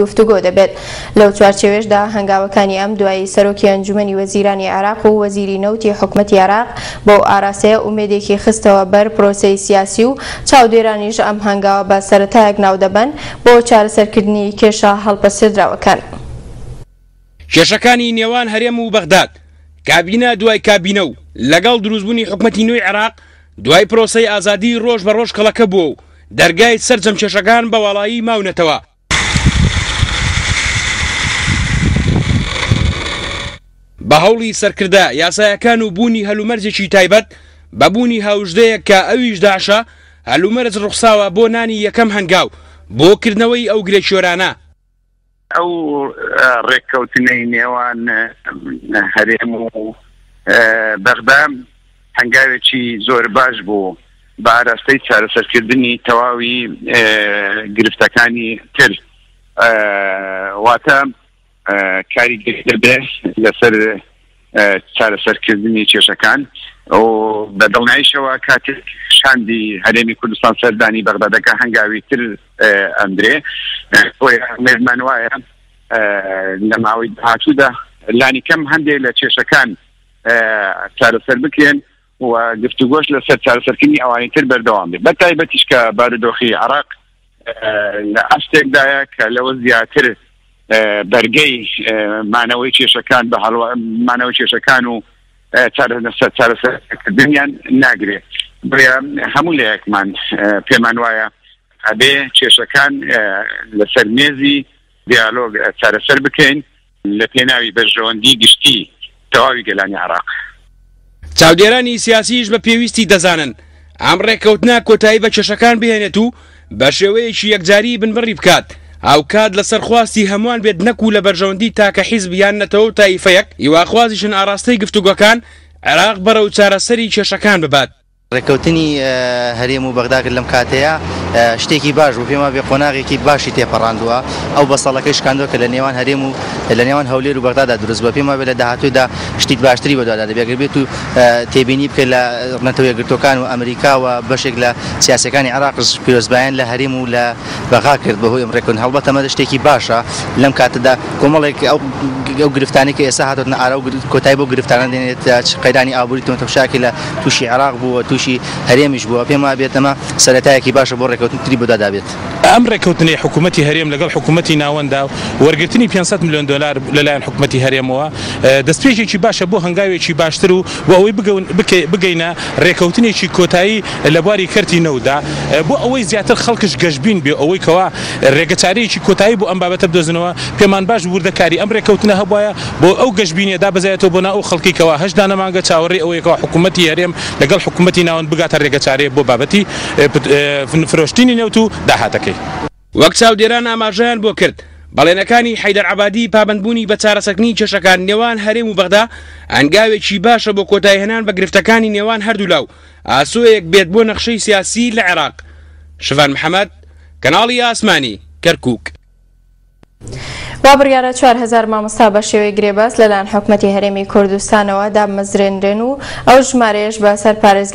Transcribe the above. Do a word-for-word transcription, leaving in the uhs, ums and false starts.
گفتوگۆ دەبێت. لەو چوارچێوەشدا هەنگاوەکانی ئەم دوایی سەرۆکی ئەنجومەنی وەزیرانی عێراق و وەزیری نەوتی حکومەتی عێراق بۆ ئاراستەیە ئومێدێکی خستەوە بەر پرۆسەی سیاسی و چاودێرانیش ئەم هەنگاوە بە سەرەتایەک ناودەبەن بۆ چارەسەرکردنی کێشە هەڵپەسێردراوەکان. کێشەکانی نێوان هەرێم و بەغداد کابینە دوای کابینە و لەگەڵ دروستبوونی حکومەتی نوێی عێراق دوای پرۆسەی ئازادی ڕۆژ بە ڕۆژ کەڵەکە بووە و دەرگای سەرجەم کێشەکان بە واڵایی ماونەتەوە. بە هەوڵی سەرکردە یاسایەکان و بوونی هەلومەرجێکی تایبەت بە بوونی هاوژدەیەک کە ئەویش داعشە، هەلومەرج ڕوخساوە بۆ نانی یەکەم هەنگاو بۆ کردنەوەی ئەو گرێکیۆرانە. ئەو ڕێککەوتنەی نێوان هەرێم و بەغدا هەنگاوێکی زۆر باش بوو بە ئاراستەی چارەسەرکردنی تەواوی گرفتەکانی تر، واتە کاریگەری دەبێت لەسەر چارەسەرکردنی کێشەکان و بە دڵنیاییشەوە کاتێک شاندی هەرێمی کوردستان سەردانی بەغدا دەکا هەنگاوی تر ئەندرێ. بۆیە ئومێدمان وایە لە ماوەی داهاتوودا لانی کەم هەندێک لە کێشەکان چارەسەر بکرێن و گفتوگۆش لەسەر چارەسەرکردنی ئەوانی تر بەردەوام بێت، بە تایبەتیش کە بارودۆخی عێراق لە ئاستێکدایە کە لەوە زیاتر بەرگەی مانەوەی کێشەکان بە مانەوەی کێشەکان و چارەسەرکردنیان ناگرێت. بۆیە هەموو لایەکمان پێمان وایە ئەبێ کێشەکان لەسەر مێزی دیالۆگ چارەسەر بکەین لە پێناوی بەرژەوەندی گشتی تەواوی گەلانی عێراق. چاودێرانی سیاسیش بە پێویستی دەزانن ئەم ڕێککەوتنە کۆتایی بە کێشەکان بهێنێت و بە شێوەیەکی یەکجاری بنبڕی بکات، هاوکات لەسەر خواستی هەمووان بێت نەکوو لە بەرژەوەندی تاکە حیزب یان نەتەوە و تایفەیەک، هیواخوازیشن ئاراستەی گفتوگۆکان عێراق بەرەو چارەسەری کێشەکان ببات. ڕێککەوتنی هەرێم و بەغدا کرد لەم کاتەیە شتێکی باش بوو، پێما بێ قۆناغێکی باشی تێپەڕاندووە. ئەو بەسەڵەکەی شکاندووە کە لە نێوان هەرێم و لە نێوان هەولێر و بەغدادا دروست بووە. پێما بێ لە داهاتوودا شتی باشتری بەدوادا دەبێت ئەگەر بێت و تێبینی بکە لە نەتەوە یەکگرتووەکان و ئەمریکا و بەشێک لە سیاسەکانی عێراق پیرۆزبایان لە هەرێم و لە بەغا کرد بەهۆی ئەم ڕێککەوتن. هەڵبەتە ئەمە شتێکی باشە لەم کاتەدا کۆمەڵێک ئەو گرفتانەی کە ئێستا هاتۆتنە ئارا و کۆتایی بۆ گرفتانە دێنێت، قەیرانی ئابووری تۆمەتەفشاکی لە تووشی عێراق بووە، تووشی هەرێمیش بووە. پێم وابێت ئەمە سەرەتایەکی باشە بۆ ڕێککەوتن تری بەدوادا بێت. ئەم ڕێککەوتنەی حکوومەتی هەرێم لەگەڵ حکوومەتی ناوەندا وەرگرتنی پێنج سەد ملیۆن دلار لەلایەن حکوومەتی هەرێمەوە دەستپێکێکی باشە بۆ هەنگاوێکی باشتر و بۆ ئەوەی بگەینە ڕێککەوتنێکی کۆتایی لە بواری کەرتی نەوتدا، بۆ ئەوەی زیاتر خەڵکش گەشبین بێ ئەوەی کەوا ڕێگەچارەیەکی کۆتایی بۆ ئەم بابەتە بدۆزنەوە. پێمان باش وردەکاری ئەم ڕێککەوتنە هەبوایە بۆ ئەو گەشبینیە دابەزایەتەوە بۆ ناو ئەو خەڵکی کەوا هەشت دانە مانگە چاوەڕێی ئەوەیەکەوە حکوومەتی هەرێم لەگەڵ حکوومەتی ناوەند بگاتە ڕێگەچارەیە بۆ بابەتی فرۆشتنی نەوت و داهاتەکەی. وەک چاودێران ئاماژەیان بۆ کرد، بەڵێنەکانی حەیدەر عەبادی پابەندبوونی بە چارەسەرکردنی کێشەکان نێوان هەرێم و بەغدا هەنگاوێکی باشە بۆ کۆتاییهێنان بە گرفتەکانی نێوان هەردوولا و ئاسۆیەک بێت بۆ نەخشەی سیاسی لە عێراق. شڤان محەممەد، کەناڵی ئاسمانی، کەرکووک. وا بڕیارە چوار هەزار مامۆستا بە شێوەی گرێبەست لەلایەن حکومەتی هەرێمی کوردستانەوە دامەزرێنرێن و ئەو ژمارەیەش بە سەر پارێزگا